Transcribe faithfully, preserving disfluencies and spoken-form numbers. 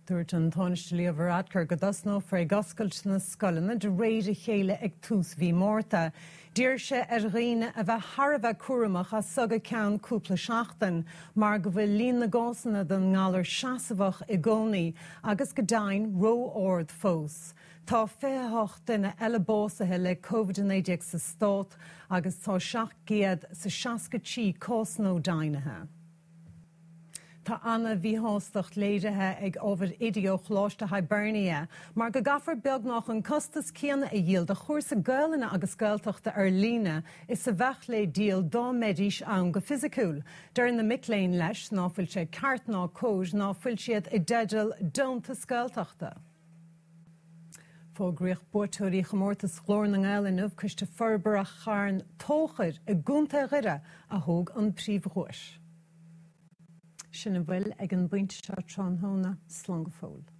Dúirt an Tánaiste Leo Varadkar go dtosnófar ag oscailt na scoileanna de réir a chéile ag tús mhí Márta. D'iarr sé ar dhaoine a bheith thar a bheith cúramach as seo go ceann cúpla seachtain, mar go bhfuil líon na gcásanna den ngalar seasmhach i gcónaí agus go deimhin ró-ard fós. Tá fiche hocht duine eile básaithe le Covid a naoi déag sa stát agus tá seacht gcéad is seasca trí cás nua deimhnithe. Tá an-mhíshástacht léirithe ag ábhair oidí ó Choláiste Hibernia, mar go gcaithfear beagnach an costas céanna a dhíol do chúrsa Gaelainne agus Gaeltachta ar líne is a bheadh le díol dá mbeidís ann go fisiciúil. Deir na mic léinn leis ná fuil sé ceart ná cóir ná fuil siad i dteideal deontas Gaeltachta. Fógraíodh buaiteoirí chomórtas Ghlór na nGael inniu Coiste Forbartha Charn Tóchair i gContae Dhoire a thóg an príomhdhuais. Sin a bhfuil ag an bpointe seo tráthnóna slán go fóill.